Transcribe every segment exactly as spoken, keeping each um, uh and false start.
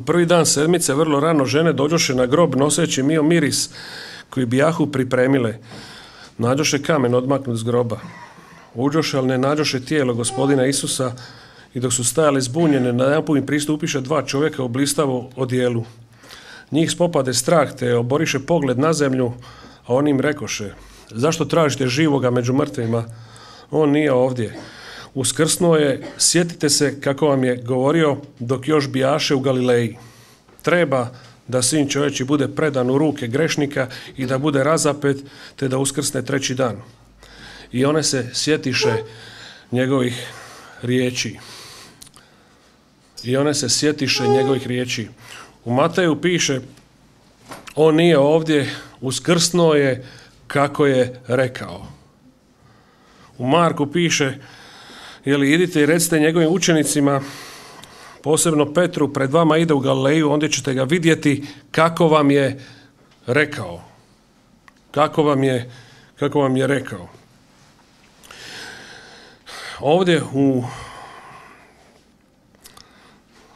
prvi dan sedmice vrlo rano žene dođoše na grob noseći mio miris koji bijahu pripremile. Nađoše kamen odmaknut s groba. Uđoše, ali ne nađoše tijelo gospodina Isusa i dok su stajali zbunjene, najedanput im pristupiše dva čovjeka u blistavo odijelu. Njih spopade strah te oboriše pogled na zemlju, a oni im rekoše: zašto tražite živoga među mrtvima? On nije ovdje. Uskrsnuo je, sjetite se kako vam je govorio dok još bijaše u Galileji. Treba da sin čovječi bude predan u ruke grešnika i da bude razapet, te da uskrsne treći dan. I one se sjetiše njegovih riječi. I one se sjetiše njegovih riječi. U Mateju piše: on nije ovdje, uskrsnuo je kako je rekao. U Marku piše: jeli idite i recite njegovim učenicima, posebno Petru, pred vama ide u Galileju, onda ćete ga vidjeti kako vam je rekao. Kako vam je, kako vam je rekao. Ovdje u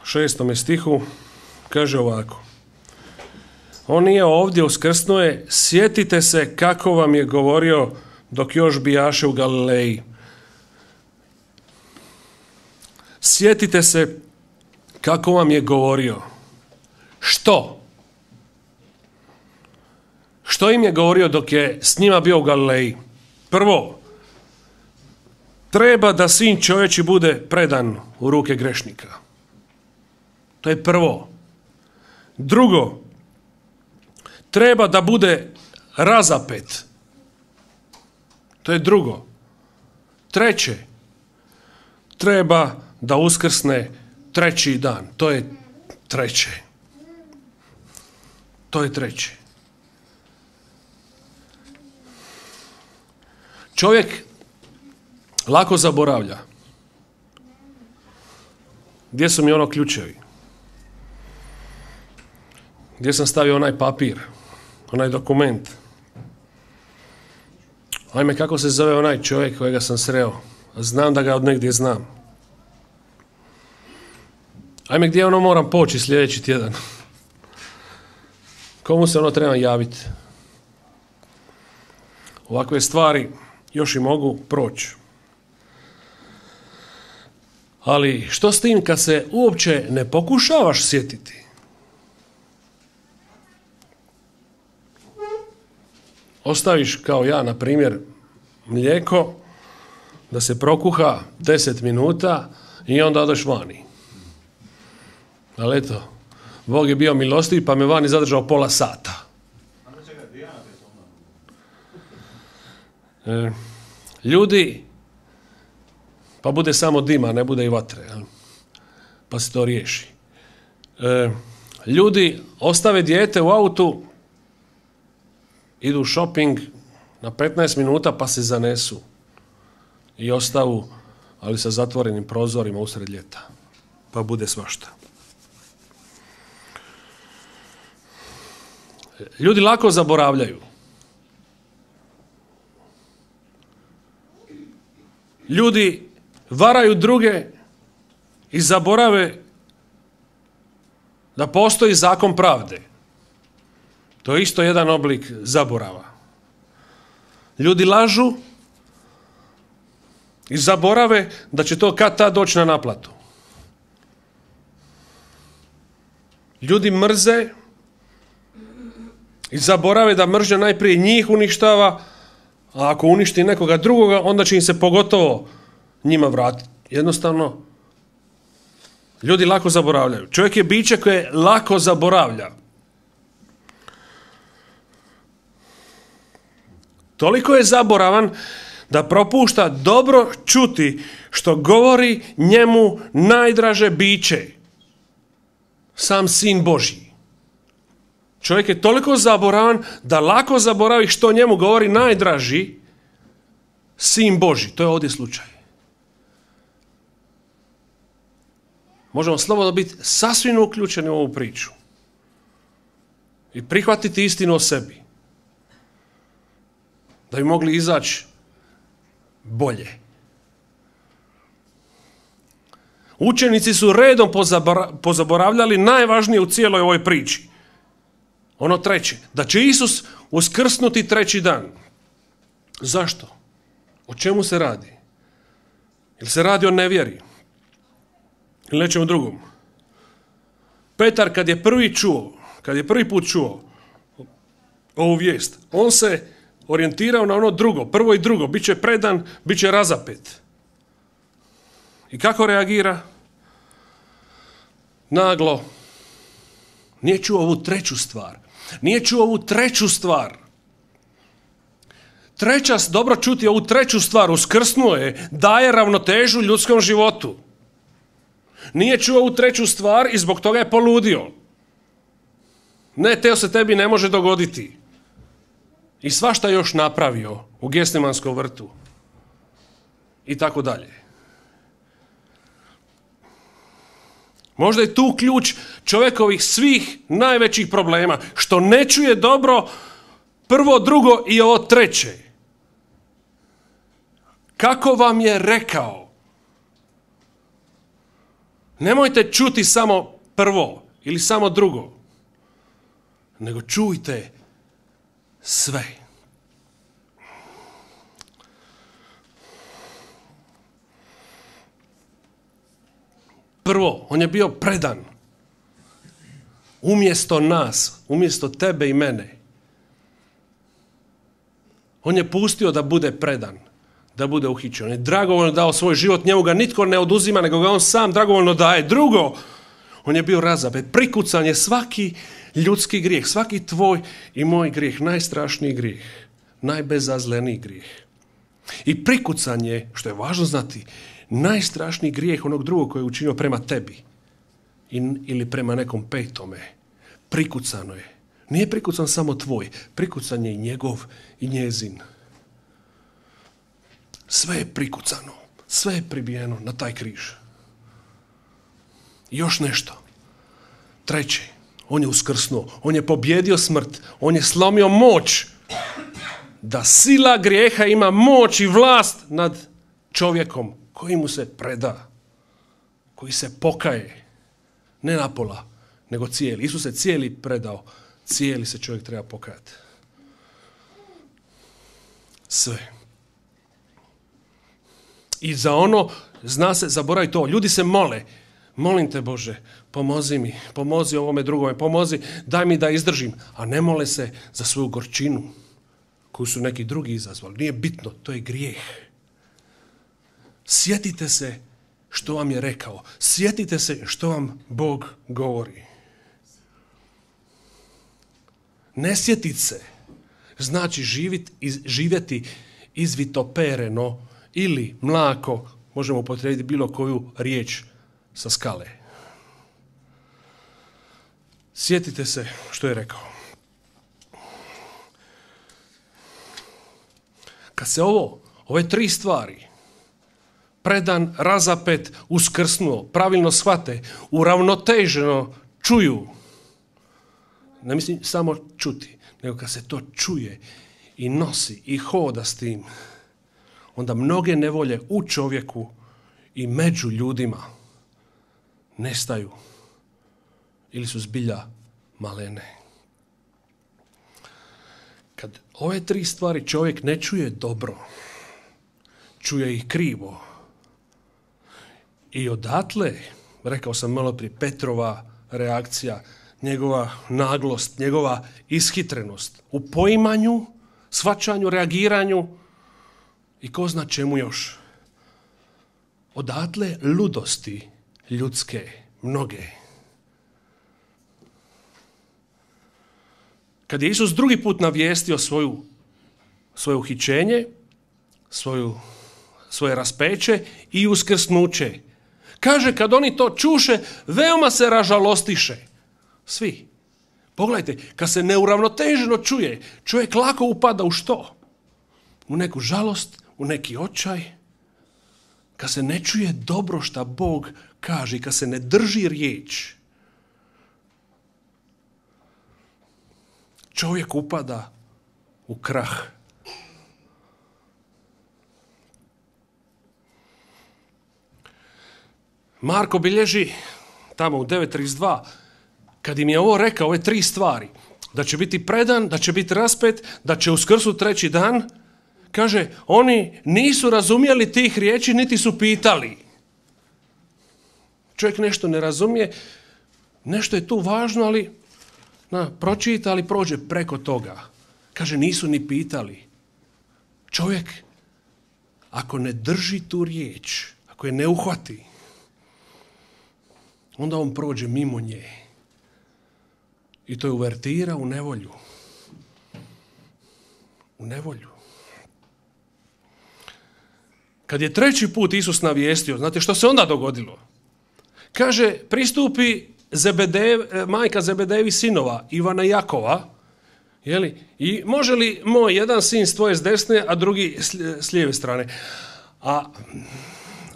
šestome stihu kaže ovako: on nije ovdje, uskrsnuo je, sjetite se kako vam je govorio dok još bijaše u Galileji. Sjetite se kako vam je govorio. Što? Što im je govorio dok je s njima bio u Galileji? Prvo, treba da sin čovječi bude predan u ruke grešnika. To je prvo. Drugo, treba da bude razapet. To je drugo. Treće, treba da uskrsne treći dan. To je treće. To je treće. Čovjek lako zaboravlja. Gdje su mi ono ključevi? Gdje sam stavio onaj papir? Onaj dokument? Ajme, kako se zove onaj čovjek kojega sam sreo? Znam da ga od negdje znam. Ajme, gdje ono moram poći sljedeći tjedan? Komu se ono treba javiti? Ovakve stvari još i mogu proći. Ali što s tim kad se uopće ne pokušavaš sjetiti? Ostaviš, kao ja, na primjer, mlijeko da se prokuha deset minuta i onda odeš vani. Ali eto, Bog je bio milostiv pa me vani zadržao pola sata. E, ljudi, pa bude samo dima, ne bude i vatre, jel? Pa se to riješi. E, ljudi ostave dijete u autu, idu u shopping na petnaest minuta pa se zanesu i ostavu, ali sa zatvorenim prozorima usred ljeta. Pa bude svašta. Ljudi lako zaboravljaju. Ljudi varaju druge i zaborave da postoji zakon pravde. To je isto jedan oblik zaborava. Ljudi lažu i zaborave da će to kad tad doći na naplatu. Ljudi mrze i zaborave da mržnja najprije njih uništava, a ako uništi nekoga drugoga, onda će im se pogotovo njima vratiti. Jednostavno, ljudi lako zaboravljaju. Čovjek je biće koje lako zaboravlja. Toliko je zaboravan da propušta dobro čuti što govori njemu najdraže biće, sam Sin Božji. Čovjek je toliko zaboravan da lako zaboravi što njemu govori najdraži Sin Božji. To je ovdje slučaj. Možemo slobodno biti sasvim uključeni u ovu priču i prihvatiti istinu o sebi, da bi mogli izaći bolje. Učenici su redom pozaboravljali najvažnije u cijeloj ovoj priči. Ono treće, da će Isus uskrsnuti treći dan. Zašto? O čemu se radi? Ili se radi o nevjeri? Ili nečemu drugom? Petar kad je prvi čuo, kad je prvi put čuo ovu vijest, on se orijentirao na ono drugo, prvo i drugo, bit će predan, bit će razapet. I kako reagira? Naglo. Nije čuo ovu treću stvar. Nije čuo ovu treću stvar. Treća, dobro čuti ovu treću stvar, uskrsnuo je, daje ravnotežu ljudskom životu. Nije čuo ovu treću stvar i zbog toga je poludio. Ne, teo se tebi ne može dogoditi. I svašta još napravio u Gestemanskom vrtu. I tako dalje. Možda je tu ključ čovjekovih svih najvećih problema, što ne čuje dobro prvo, drugo i ovo treće. Kako vam je rekao? Nemojte čuti samo prvo ili samo drugo, nego čujte sve. Prvo, on je bio predan. Umjesto nas, umjesto tebe i mene. On je pustio da bude predan, da bude uhićen. On je dragovoljno dao svoj život, njemu ga nitko ne oduzima, nego ga on sam dragovoljno daje. Drugo, on je bio razapet. Prikucan je svaki ljudski grijeh, svaki tvoj i moj grijeh, najstrašniji grijeh, najbezazleniji grijeh. I prikucan je, što je važno znati, najstrašniji grijeh onog drugog koji je učinio prema tebi ili prema nekom petome. Prikucano je. Nije prikucan samo tvoj, prikucan je i njegov i njezin. Sve je prikucano, sve je pribijeno na taj križ. I još nešto. Treće, on je uskrsnuo, on je pobjedio smrt, on je slomio moć da sila grijeha ima moć i vlast nad čovjekom koji mu se preda, koji se pokaje, ne napola, nego cijeli. Isus se cijeli predao, cijeli se čovjek treba pokajati. Sve. I za ono, zna se, zaboravi to, ljudi se mole, molim te Bože, pomozi mi, pomozi ovome drugome, pomozi, daj mi da izdržim, a ne mole se za svoju gorčinu koju su neki drugi izazvali. Nije bitno, to je grijeh. Sjetite se što vam je rekao. Sjetite se što vam Bog govori. Ne sjetit se znači živit, iz, živjeti izvitopereno ili mlako, možemo upotrijebiti bilo koju riječ sa skale. Sjetite se što je rekao. Kad se ovo, ove tri stvari, predan, razapet, uskrsnuo, pravilno shvate, uravnoteženo čuju, ne mislim samo čuti, nego kad se to čuje i nosi i hoda s tim, onda mnoge nevolje u čovjeku i među ljudima nestaju ili su zbilja malene. Kad ove tri stvari čovjek ne čuje dobro, čuje ih krivo, i odatle, rekao sam malo prije, Petrova reakcija, njegova naglost, njegova ishitrenost u poimanju, shvaćanju, reagiranju i ko zna čemu još. Odatle ludosti ljudske, mnoge. Kad je Isus drugi put navijestio svoju, svoje uhićenje, svoju, svoje raspeće i uskrsnuće, kaže, kad oni to čuše, veoma se ražalostiše. Svi. Pogledajte, kad se neuravnoteženo čuje, čovjek lako upada u što? U neku žalost, u neki očaj. Kad se ne čuje dobro šta Bog kaže, kad se ne drži riječ, čovjek upada u krah. Marko bilježi tamo u devet trideset dva, kad im je ovo rekao, ove tri stvari, da će biti predan, da će biti raspet, da će uskrsnuti treći dan, kaže, oni nisu razumjeli tih riječi, niti su pitali. Čovjek nešto ne razumije, nešto je tu važno, ali na, pročita, ali prođe preko toga. Kaže, nisu ni pitali. Čovjek, ako ne drži tu riječ, ako je ne uhvati, onda on prođe mimo nje. I to je uvertira u nevolju. U nevolju. Kad je treći put Isus navijestio, znate što se onda dogodilo? Kaže, pristupi Zebedev, majka Zebedevi sinova, Ivana i Jakova, jeli? I može li moj jedan sin s tvoje s desne, a drugi s lijeve strane? A,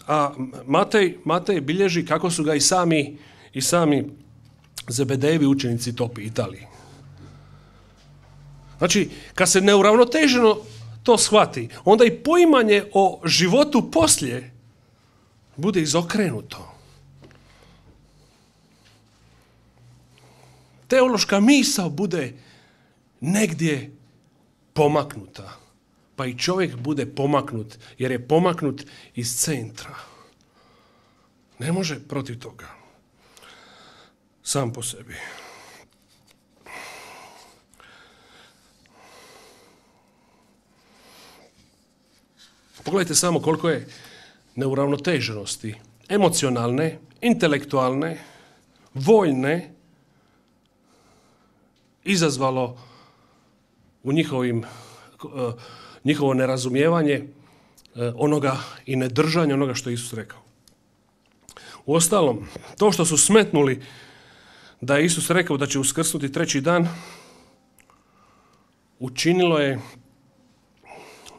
a Matej, Matej bilježi kako su ga i sami, i sami Zebedejevi učenici to pitali. Znači, kad se neuravnoteženo to shvati, onda i poimanje o životu poslije bude izokrenuto. Teološka misao bude negdje pomaknuta. Pa i čovjek bude pomaknut, jer je pomaknut iz centra. Ne može protiv toga. Sam po sebi. Pogledajte samo koliko je neuravnoteženosti, emocionalne, intelektualne, voljne, izazvalo u njihovim, njihovo nerazumijevanje onoga i nedržanje onoga što je Isus rekao. Uostalom, to što su smetnuli da je Isus rekao da će uskrsnuti treći dan, učinilo je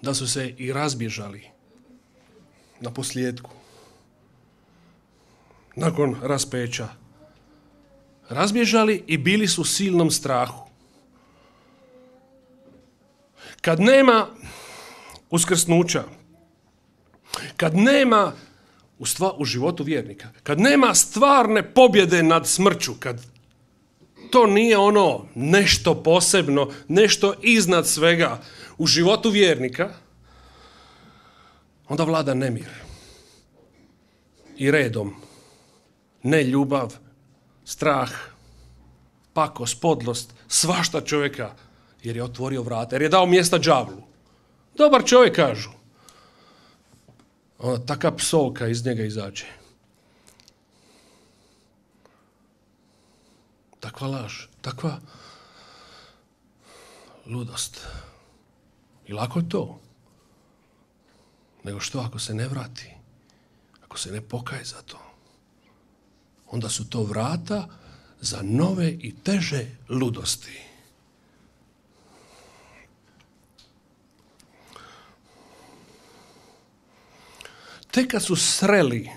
da su se i razbježali na posljedku. Nakon raspeća. Razbježali i bili su u silnom strahu. Kad nema uskrsnuća, kad nema u, stva, u životu vjernika, kad nema stvarne pobjede nad smrću, kad to nije ono nešto posebno, nešto iznad svega u životu vjernika, onda vlada nemir. I redom. Neljubav, strah, pakost, podlost, svašta čovjeka, jer je otvorio vrata, jer je dao mjesta đavlu. Dobar čovjek, kažu. Onda taka psovka iz njega izađe. Takva laž, takva ludost. I lako je to. Nego što ako se ne vrati, ako se ne pokaje za to, onda su to vrata za nove i teže ludosti. Tek kad su sreli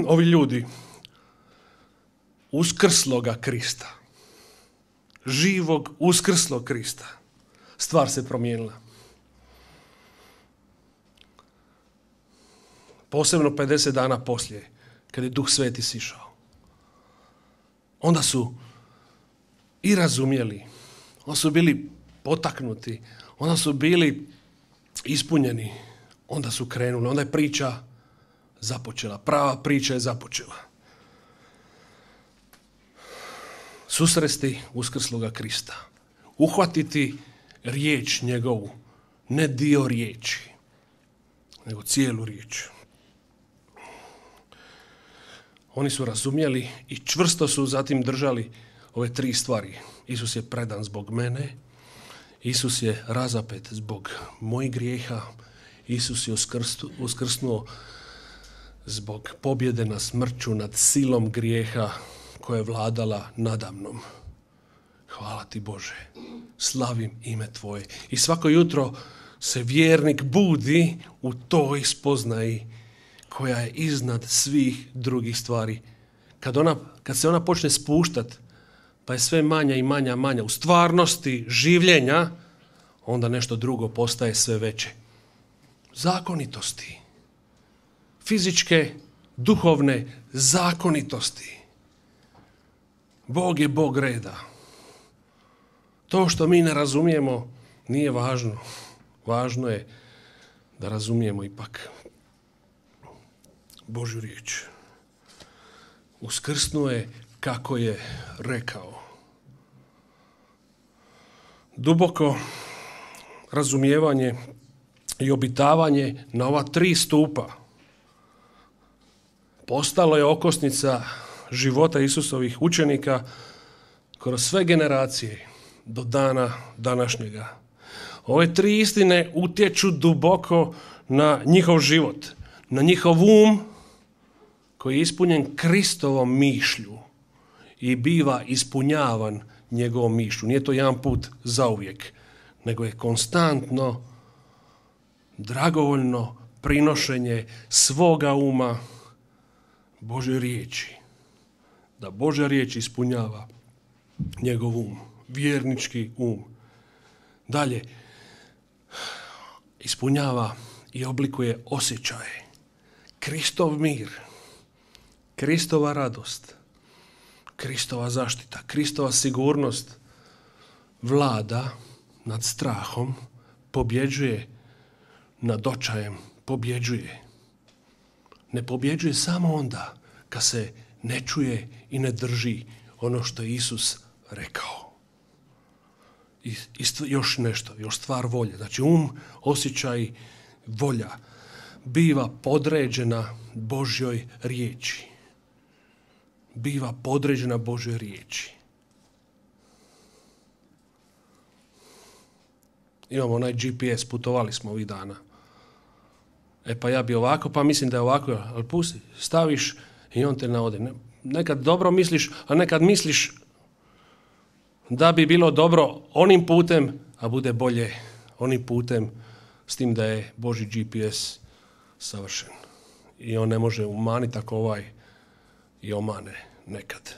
ovi ljudi uskrsloga Krista, živog uskrslog Krista, stvar se promijenila. Posebno pedeset dana poslije, kad je Duh Sveti sišao. Onda su i razumjeli, onda su bili potaknuti, onda su bili ispunjeni, onda su krenuli, onda je priča započela, prava priča je započela. Susresti uskrsloga Krista, uhvatiti riječ njegovu, ne dio riječi, nego cijelu riječ. Oni su razumjeli i čvrsto su zatim držali ove tri stvari. Isus je predan zbog mene, Isus je razapet zbog mojih grijeha, Isus je uskrsnuo zbog pobjede na smrću nad silom grijeha koja je vladala nadamnom. Hvala ti Bože, slavim ime tvoje. I svako jutro se vjernik budi u toj spoznaji koja je iznad svih drugih stvari. Kad, ona, kad se ona počne spuštat, pa je sve manja i manja manja u stvarnosti življenja, onda nešto drugo postaje sve veće. Zakonitosti. Fizičke duhovne zakonitosti. Bog je Bog reda. To što mi ne razumijemo nije važno. Važno je da razumijemo ipak Božju riječ. Uskrsnuo je kako je rekao. Duboko razumijevanje i obitavanje na ova tri stupa postalo je okosnica života Isusovih učenika kroz sve generacije do dana današnjega. Ove tri istine utječu duboko na njihov život, na njihov um koji je ispunjen Kristovom mišlju i biva ispunjavan njegovom mišlju. Nije to jedan put zauvijek, nego je konstantno, dragovoljno prinošenje svoga uma Božoj riječi. Da Božja riječ ispunjava njegov um, vjernički um. Dalje, ispunjava i oblikuje osjećaje. Kristov mir, Kristova radost, Kristova zaštita, Kristova sigurnost vlada nad strahom, pobjeđuje nad očajem, pobjeđuje. Ne pobjeđuje samo onda kad se ne čuje i ne drži ono što je Isus rekao. I, i još nešto, još stvar volje. Znači um, osjećaj, volja biva podređena Božjoj riječi. Biva podređena Božjoj riječi. Imamo onaj G P S, putovali smo ovih dana. E pa ja bi ovako, pa mislim da je ovako, ali pusti, staviš i on te navode. Nekad dobro misliš, a nekad misliš da bi bilo dobro onim putem, a bude bolje onim putem, s tim da je Božji G P S savršen. I on ne može umaniti ako ovaj i omane nekad.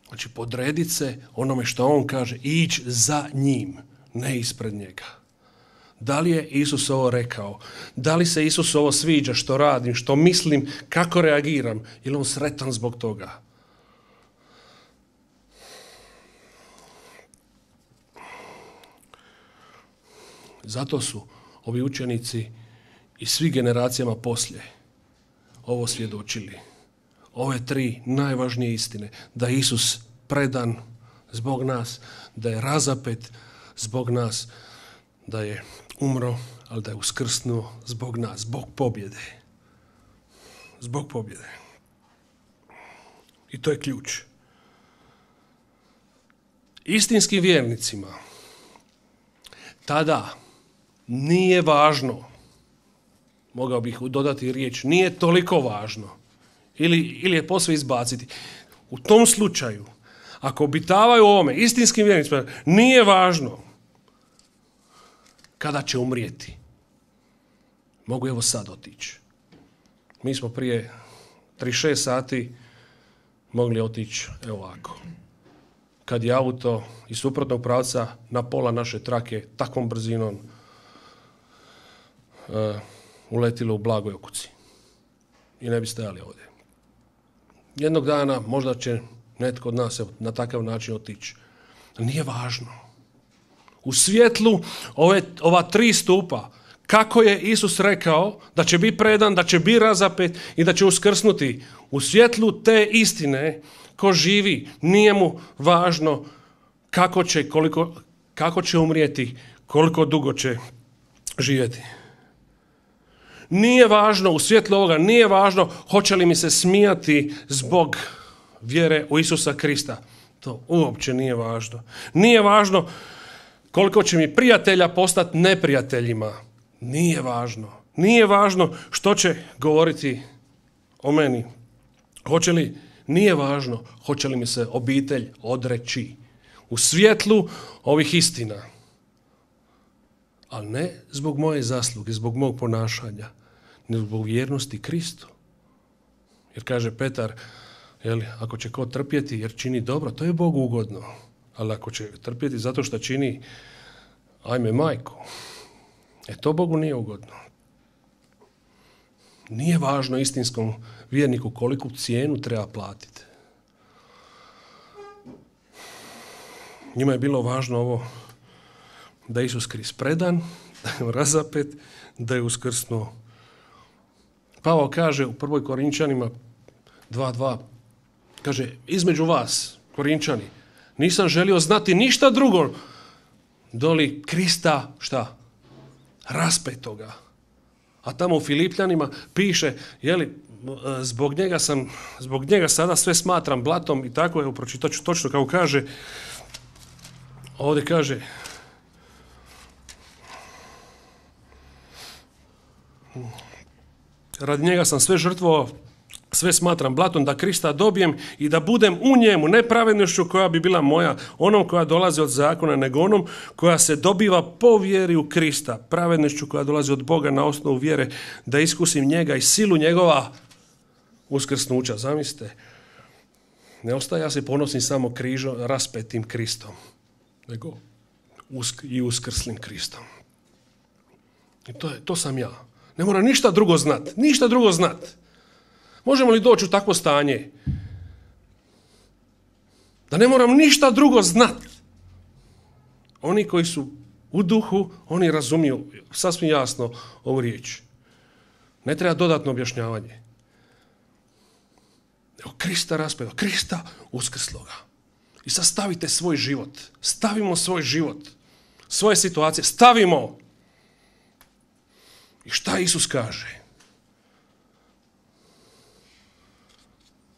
Znači podrediti se onome što on kaže, ići za njim, ne ispred njega. Da li je Isus ovo rekao? Da li se Isus ovo sviđa što radim, što mislim, kako reagiram? Je li on sretan zbog toga? Zato su ovi učenici i svi generacijama poslije ovo svjedočili. Ove tri najvažnije istine. Da je Isus predan zbog nas, da je razapet zbog nas, da je umro, ali da je uskrsnuo zbog nas, zbog pobjede. Zbog pobjede. I to je ključ. Istinskim vjernicima tada nije važno, mogao bih dodati riječ, nije toliko važno, ili, ili je posve izbaciti. U tom slučaju, ako obitavaju ovome, istinskim vjernicima, nije važno kada će umrijeti. Mogu evo sad otići. Mi smo prije trideset šest sati mogli otići evo ovako. Kad je auto iz suprotnog pravca na pola naše trake takvom brzinom uh, uletilo u blagoj okuci. I ne bi stajali ovdje. Jednog dana možda će netko od nas na takav način otići. Nije važno. U svjetlu ove, ova tri stupa, kako je Isus rekao da će biti predan, da će biti razapet i da će uskrsnuti. U svjetlu te istine, ko živi, nije mu važno kako će, koliko, kako će umrijeti, koliko dugo će živjeti. Nije važno, u svjetlu ovoga, nije važno hoće li mi se smijati zbog vjere u Isusa Krista. To uopće nije važno. Nije važno koliko će mi prijatelja postati neprijateljima. Nije važno. Nije važno što će govoriti o meni. Hoće li, nije važno hoće li mi se obitelj odreći. U svjetlu ovih istina. Ali ne zbog moje zasluge, zbog mog ponašanja, nego zbog vjernosti Kristu. Jer kaže Petar, jeli, ako će ko trpjeti jer čini dobro, to je Bogu ugodno. Ali ako će trpjeti zato što čini, ajme majku, e to Bogu nije ugodno. Nije važno istinskom vjerniku koliku cijenu treba platiti. Njima je bilo važno ovo da je Isus Krist predan, da je razapet, da je uskrsnuo. Pavao kaže u prvoj Korinčanima dva dva, kaže, između vas, Korinčani, nisam želio znati ništa drugo doli Krista, šta? Raspetoga. A tamo u Filipljanima piše, jeli, zbog njega sam, zbog njega sada sve smatram blatom i tako, evo, pročitat ću točno kako kaže, ovdje kaže, radi njega sam sve žrtvovao, sve smatram blatom, da Krista dobijem i da budem u njemu, ne pravednošću koja bi bila moja, onom koja dolazi od zakona, nego onom koja se dobiva po vjeri u Krista, pravednošću koja dolazi od Boga na osnovu vjere, da iskusim njega i silu njegova uskrsnuća. Zamislite, ne ostaje ja se ponosim samo križom, raspetim Kristom, nego usk- i uskrslim Kristom. I to, je, to sam ja. Ne mora ništa drugo znat, ništa drugo znat. Možemo li doći u takvo stanje? Da ne moram ništa drugo znat. Oni koji su u duhu, oni razumiju sasvim jasno ovu riječ. Ne treba dodatno objašnjavanje. Evo Krista raspeva, Krista uskrsloga. I sad stavite svoj život. Stavimo svoj život. Svoje situacije. Stavimo. I šta Isus kaže?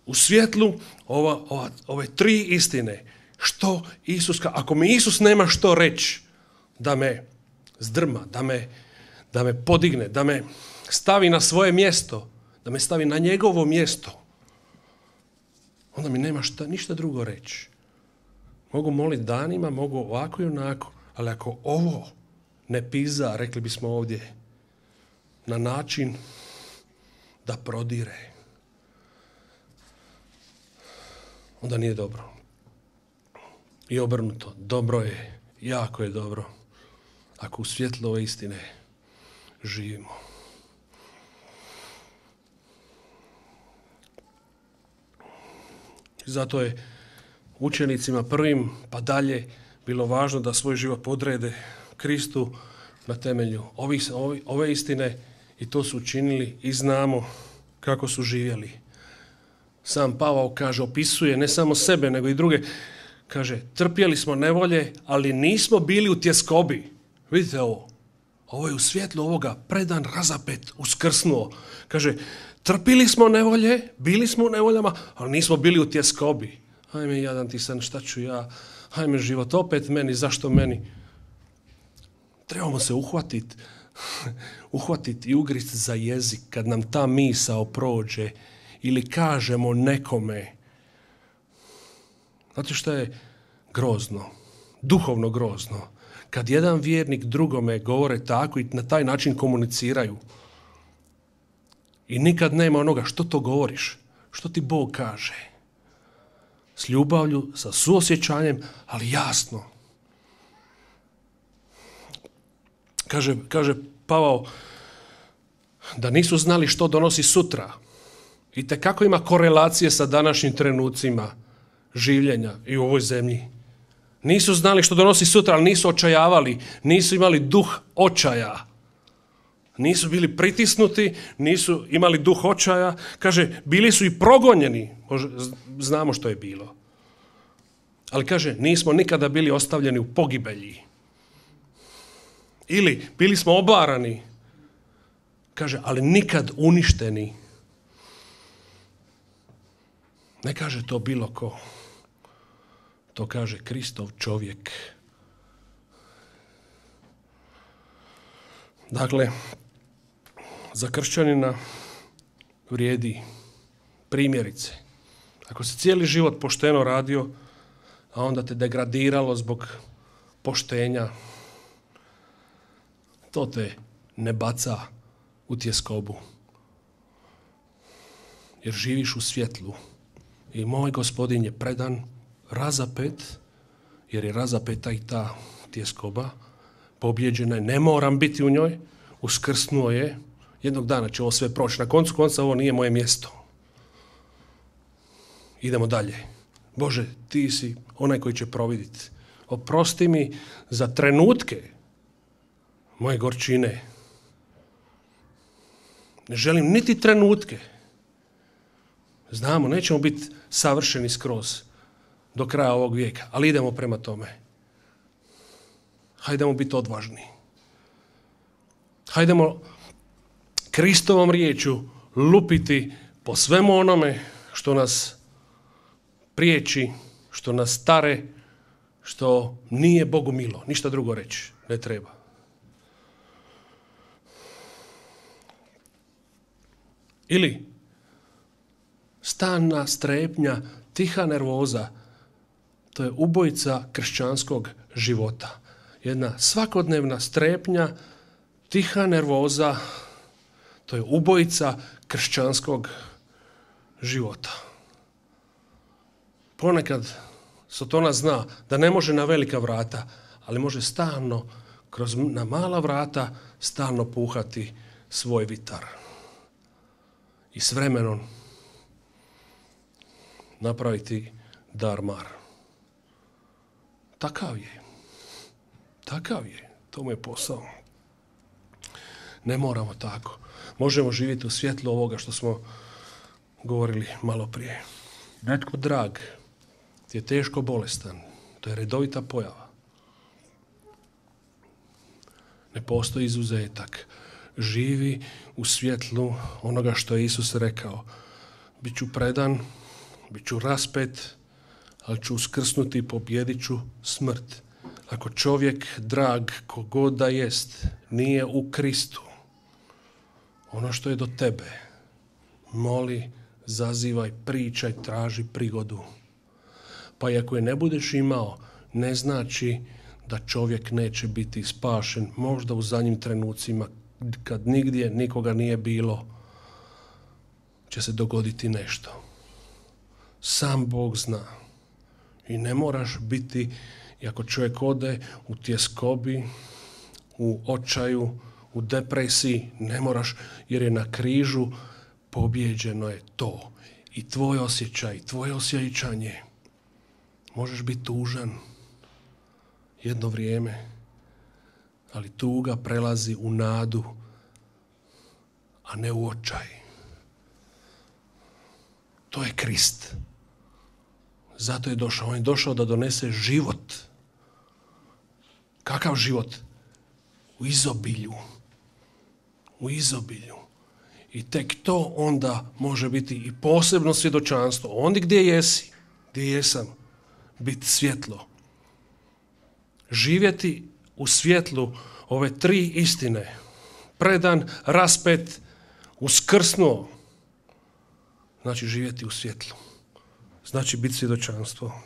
U svjetlu ova, ova, ove tri istine, što Isus, ako mi Isus nema što reći, da me zdrma, da me, da me podigne, da me stavi na svoje mjesto, da me stavi na njegovo mjesto, onda mi nema šta, ništa drugo reći. Mogu moliti danima, mogu ovako i onako, ali ako ovo ne piza, rekli bismo ovdje, na način da prodire, onda nije dobro. I obrnuto, dobro je, jako je dobro, ako u svjetlu ove istine živimo. Zato je učenicima prvim pa dalje bilo važno da svoj život podrede Kristu na temelju ovih, ove istine i to su učinili i znamo kako su živjeli. Sam Pavao kaže, opisuje ne samo sebe, nego i druge. Kaže, trpjeli smo nevolje, ali nismo bili u tjeskobi. Vidite ovo. Ovo je u svjetlu ovoga predan, razapet, uskrsnuo. Kaže, trpili smo nevolje, bili smo u nevoljama, ali nismo bili u tjeskobi. Hajme, jadan ti san, šta ću ja? Hajme, život opet meni, zašto meni? Trebamo se uhvatiti, uhvatiti i ugrist za jezik kad nam ta misao prođe ili kažemo nekome. Znate što je grozno, duhovno grozno? Kad jedan vjernik drugome govore tako i na taj način komuniciraju i nikad nema onoga što to govoriš, što ti Bog kaže. S ljubavlju, sa suosjećanjem, ali jasno. Kaže, kaže Pavao da nisu znali što donosi sutra. I tekako ima korelacije sa današnjim trenucima življenja i u ovoj zemlji. Nisu znali što donosi sutra, ali nisu očajavali, nisu imali duh očaja. Nisu bili pritisnuti, nisu imali duh očaja. Kaže, bili su i progonjeni. Može, znamo što je bilo. Ali kaže, nismo nikada bili ostavljeni u pogibelji. Ili bili smo obarani. Kaže, ali nikad uništeni. Ne kaže to bilo ko. To kaže Kristov čovjek. Dakle, za kršćanina vrijedi primjerice. Ako si cijeli život pošteno radio, a onda te degradiralo zbog poštenja, to te ne baca u tjeskobu. Jer živiš u svjetlu. I moj Gospodin je predan, razapet, jer je razapeta i ta tjeskoba, pobjeđena je, ne moram biti u njoj, uskrsnuo je, Jednog dana će ovo sve proći. Na koncu konca ovo nije moje mjesto. Idemo dalje. Bože, ti si onaj koji će providiti. Oprosti mi za trenutke moje gorčine. Ne želim niti trenutke. Znamo, nećemo biti savršeni skroz do kraja ovog vijeka, ali idemo prema tome. Hajdemo biti odvažni. Hajdemo Kristovom riječu lupiti po svemu onome što nas priječi, što nas tare, što nije Bogu milo. Ništa drugo reći ne treba. Ili stalna strepnja, tiha nervoza, to je ubojica kršćanskog života. Jedna svakodnevna strepnja, tiha nervoza, to je ubojica kršćanskog života. Ponekad Sotona zna da ne može na velika vrata, ali može stalno, kroz na mala vrata, stalno puhati svoj vitar. I s vremenom napraviti dar-mar. Takav je. Takav je. To mu je posao. Ne moramo tako. Možemo živjeti u svjetlu ovoga što smo govorili malo prije. Netko drag ti je teško bolestan. To je redovita pojava. Ne postoji izuzetak. Živi u svjetlu onoga što je Isus rekao. Biću predan, biću raspet, ali ću uskrsnuti i pobjedit ću smrt. Ako čovjek drag, kogod da jest, nije u Kristu, ono što je do tebe, moli, zazivaj, pričaj, traži prigodu. Pa i ako je ne budeš imao, ne znači da čovjek neće biti spašen, možda u zadnjim trenucima, kad nigdje nikoga nije bilo, će se dogoditi nešto. Sam Bog zna. I ne moraš biti, i ako čovjek ode u tjeskobi, u očaju, u depresiji, ne moraš, jer je na križu pobijeđeno je to. I tvoj osjećaj, tvoje osjećanje. Možeš biti tužan jedno vrijeme, ali tuga prelazi u nadu, a ne u očaj. To je Krist. Zato je došao. On je došao da donese život. Kakav život? U izobilju. U izobilju. I tek to onda može biti i posebno svjedočanstvo. Ondje gdje jesi, gdje jesam, biti svjetlo. Živjeti u svjetlu ove tri istine. Predan, raspet, uskrsnuo. Znači živjeti u svjetlu. Znači biti svjedočanstvo.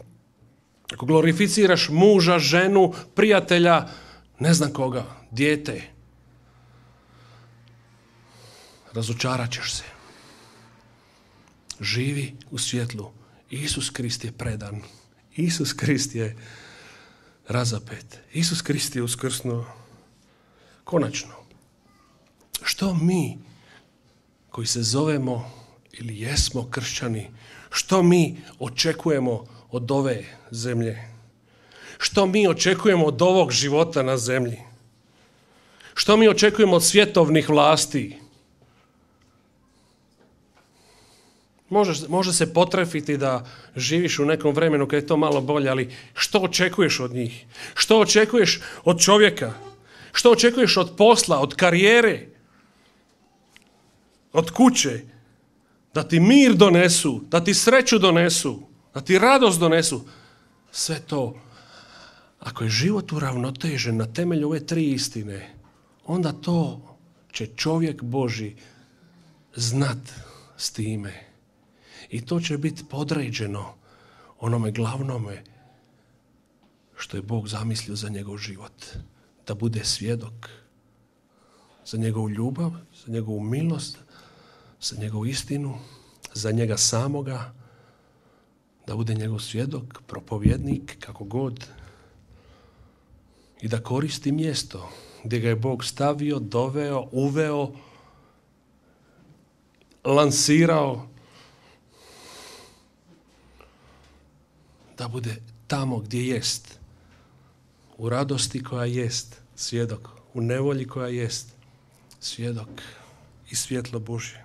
Ako glorificiraš muža, ženu, prijatelja, ne znam koga, dijete, razočarat ćeš se. Živi u svjetlu. Isus Krist je predan. Isus Krist je razapet. Isus Krist je uskrsnuo. Konačno, što mi koji se zovemo ili jesmo kršćani, što mi očekujemo od ove zemlje? Što mi očekujemo od ovog života na zemlji? Što mi očekujemo od svjetovnih vlasti? Može, može se potrefiti da živiš u nekom vremenu kad je to malo bolje, ali što očekuješ od njih? Što očekuješ od čovjeka? Što očekuješ od posla, od karijere, od kuće? Da ti mir donesu, da ti sreću donesu, da ti radost donesu. Sve to, ako je život uravnotežen na temelju ove tri istine, onda to će čovjek Božji znat s time. I to će biti podređeno onome glavnome što je Bog zamislio za njegov život. Da bude svjedok za njegovu ljubav, za njegovu milost, za njegovu istinu, za njega samoga, da bude njegov svjedok, propovjednik, kako god, i da koristi mjesto gdje ga je Bog stavio, doveo, uveo lansirao da bude tamo gdje jest, u radosti koja jest svjedok, u nevolji koja jest svjedok i svjetlo Božje.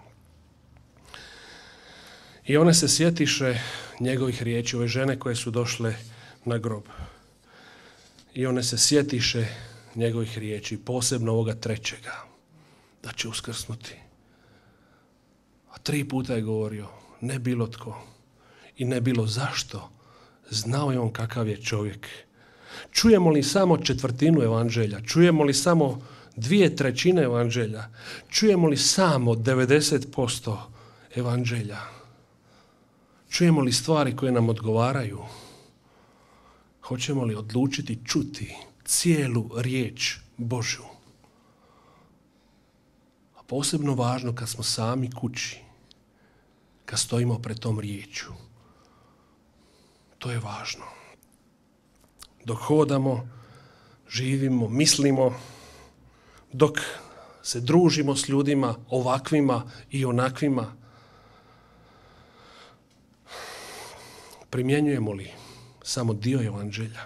I one se sjetiše njegovih riječi, ove žene koje su došle na grob. I one se sjetiše njegovih riječi, posebno ovoga trećega, da će uskrsnuti. A tri puta je govorio, ne bilo tko i ne bilo zašto, znao je on kakav je čovjek. Čujemo li samo četvrtinu evanđelja, čujemo li samo dvije trećine evanđelja, čujemo li samo devedeset posto evanđelja, čujemo li stvari koje nam odgovaraju, hoćemo li odlučiti čuti cijelu riječ Božju. A posebno važno kad smo sami kući, kad stojimo pred tom riječju. To je važno. Dok hodamo, živimo, mislimo, dok se družimo s ljudima ovakvima i onakvima, primjenjujemo li samo dio evanđelja?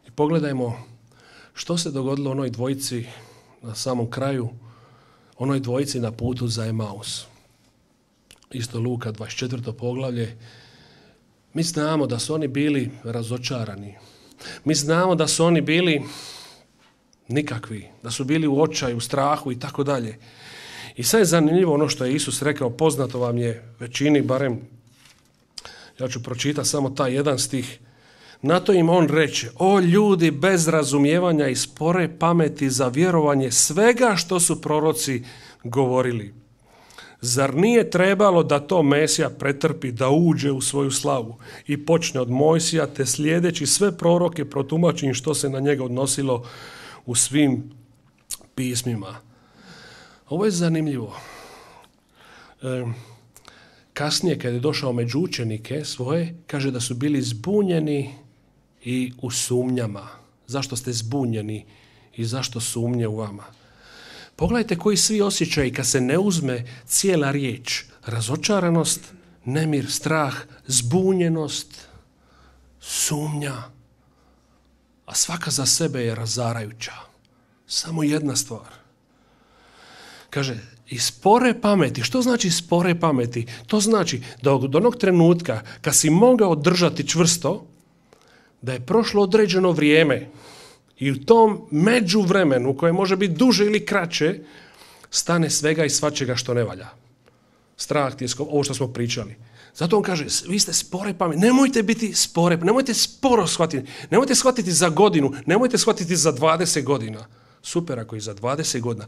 I pogledajmo što se dogodilo onoj dvojici na samom kraju, onoj dvojici na putu za Emaus. Isto Luka dvadeset četvrto poglavlje. Mi znamo da su oni bili razočarani. Mi znamo da su oni bili nikakvi, da su bili u očaju, u strahu i tako dalje. I sad je zanimljivo ono što je Isus rekao, poznato vam je većini, barem ja ću pročitati samo taj jedan stih. Na to im on reče, o ljudi bez razumijevanja i spore pameti za vjerovanje svega što su proroci govorili. Zar nije trebalo da to Mesija pretrpi, da uđe u svoju slavu i počne od Mojsija, te slijedeći sve proroke protumači im što se na njega odnosilo u svim pismima. Ovo je zanimljivo. E, kasnije, kad je došao među učenike svoje, kaže da su bili zbunjeni i u sumnjama. Zašto ste zbunjeni i zašto sumnje u vama? Pogledajte koji svi osjećaji kad se ne uzme cijela riječ. Razočaranost, nemir, strah, zbunjenost, sumnja. A svaka za sebe je razarajuća. Samo jedna stvar. Kaže, i spore pameti. Što znači spore pameti? To znači da od onog trenutka kad si mogao držati čvrsto, da je prošlo određeno vrijeme i u tom međuvremenu, koje može biti duže ili kraće, stane svega i svačega što ne valja. Strah, tjesko, ovo što smo pričali. Zato on kaže, vi ste spore pameti. Nemojte biti spore, nemojte sporo shvatiti. Nemojte shvatiti za godinu, nemojte shvatiti za dvadeset godina. Super ako i za dvadeset godina.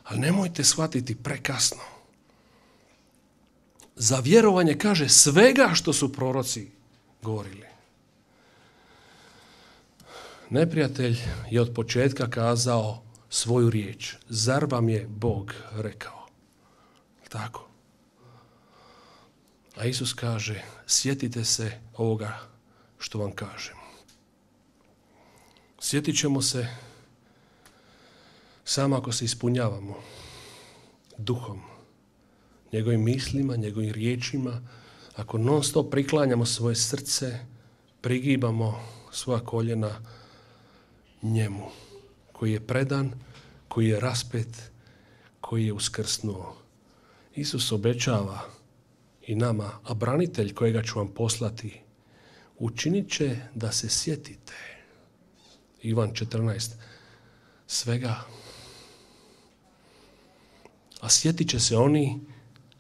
Ali nemojte shvatiti prekasno. Za vjerovanje kaže svega što su proroci govorili. Neprijatelj je od početka kazao svoju riječ. Zar vam je Bog rekao? Tako. A Isus kaže, sjetite se ovoga što vam kažem. Sjetit ćemo se samo ako se ispunjavamo duhom, njegovim mislima, njegovim riječima, ako non stop priklanjamo svoje srce, prigibamo svoja koljena njemu, koji je predan, koji je raspet, koji je uskrsnuo. Isus obećava i nama, a branitelj kojega ću vam poslati, učinit će da se sjetite. Ivan četrnaest. Svega. A sjetit će se oni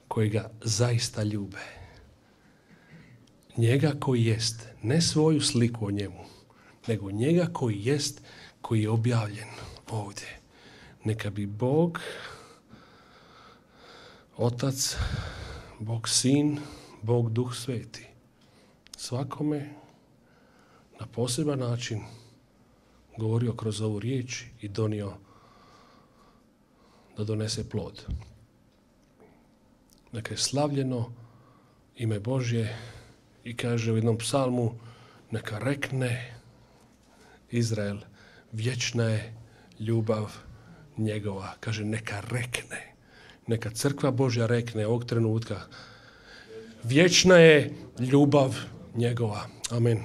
koji ga zaista ljube. Njega koji jest, ne svoju sliku o njemu, nego njega koji jest, koji je objavljen ovdje. Neka bi Bog, Otac, Bog Sin, Bog Duh Sveti svakome na poseban način govorio kroz ovu riječ i donio da donese plod. Neka je slavljeno ime Božje i kaže u jednom psalmu, neka rekne Izrael, vječna je ljubav njegova. Kaže, neka rekne. Neka crkva Božja rekne ovog trenutka. Vječna je ljubav njegova. Amen.